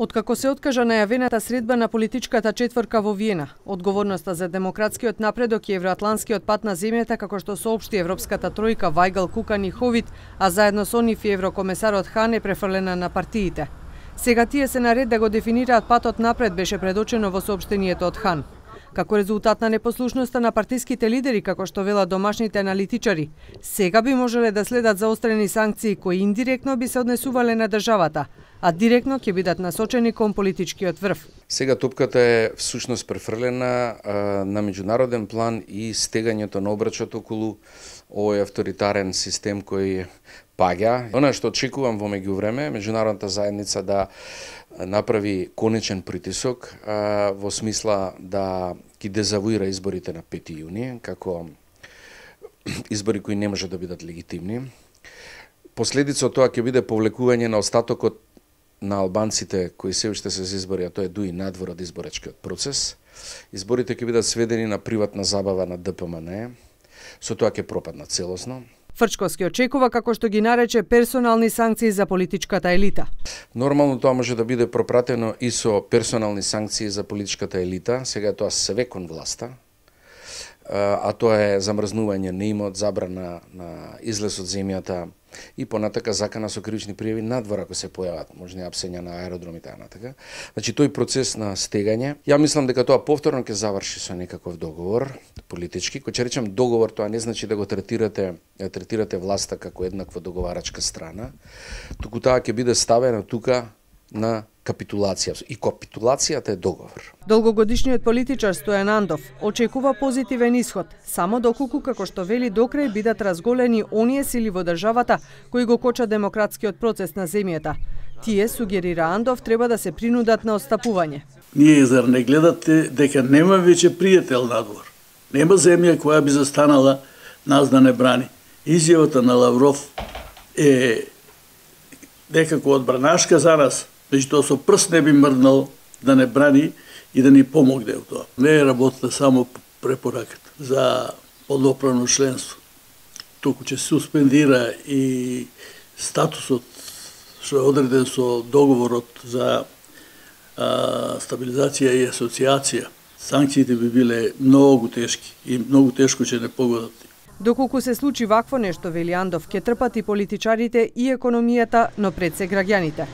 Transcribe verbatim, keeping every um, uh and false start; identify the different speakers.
Speaker 1: Откако се откажа најавената средба на политичката четврка во Виена, одговорноста за демократскиот напредок и евроатланскиот пат на земјата, како што соопшти Европската тројка Вајгал, Кукан и Ховит, а заедно со нив и еврокомесарот Хан, е префрлена на партиите. Сега тие се наред да го дефинираат патот напред, беше предочено во соопштението од Хан. Како резултат на непослушноста на партиските лидери, како што велат домашните аналитичари, сега би можеле да следат заострени санкции кои индиректно би се однесувале на државата, а директно ќе бидат насочени кон политичкиот врв.
Speaker 2: Сега топката е всушност префрлена а, на меѓународен план и стегањето на обрачот околу овој авторитарен систем кој паѓа. Она што очекувам во меѓувреме, меѓународната заедница да направи конечен притисок а, во смисла да ги дезавуира изборите на пети јуни, како избори кои не може да бидат легитимни. Последица од тоа ќе биде повлекување на остатокот на албанците кои се уште се за избори, а тоа е дуи надвор од изборачкиот процес. Изборите ќе бидат сведени на приватна забава на Д П М Н, со тоа ќе пропаднат целосно.
Speaker 1: Фрчковски очекува, како што ги нарече, персонални санкции за политичката елита.
Speaker 2: Нормално тоа може да биде пропратено и со персонални санкции за политичката елита, сега тоа све кон власта, а тоа е замрзнување на имот, забрана на излез од земјата и понатака закана со кривични пријави надвор ако се појават, можни апсења на аеродроми и така натака. Значи тој процес на стегање, ја мислам дека тоа повторно ќе заврши со некаков договор политички. Кој ќе речем договор, тоа не значи да го третирате, да третирате власта како еднаква договарачка страна, туку таа ќе биде ставена тука на капитулација. И капитулацијата е договор.
Speaker 1: Долгогодишниот политичар Стојан Андов очекува позитивен исход, само доколку, како што вели, докрај бидат разголени оние сили во државата кои го кочат демократскиот процес на земјата. Тие, сугерира Андов, треба да се принудат на отстапување.
Speaker 3: Ние зар не гледате дека нема веќе пријател надвор? Нема земја која би застанала нас да не брани. Изјавата на Лавров е некако одбранашка за нас, меѓутоа со прст не би мрднал да не брани и да ни помогне во тоа. Не е работата само препораката за подоправно членство. Туку ќе се суспендира и статусот што е одреден со договорот за а, стабилизација и асоциација. Санкциите би биле многу тешки и многу тешко ќе не погодат.
Speaker 1: Доколку се случи вакво нешто, вели Андов, ќе трпат и политичарите и економијата, но пред се граѓаните.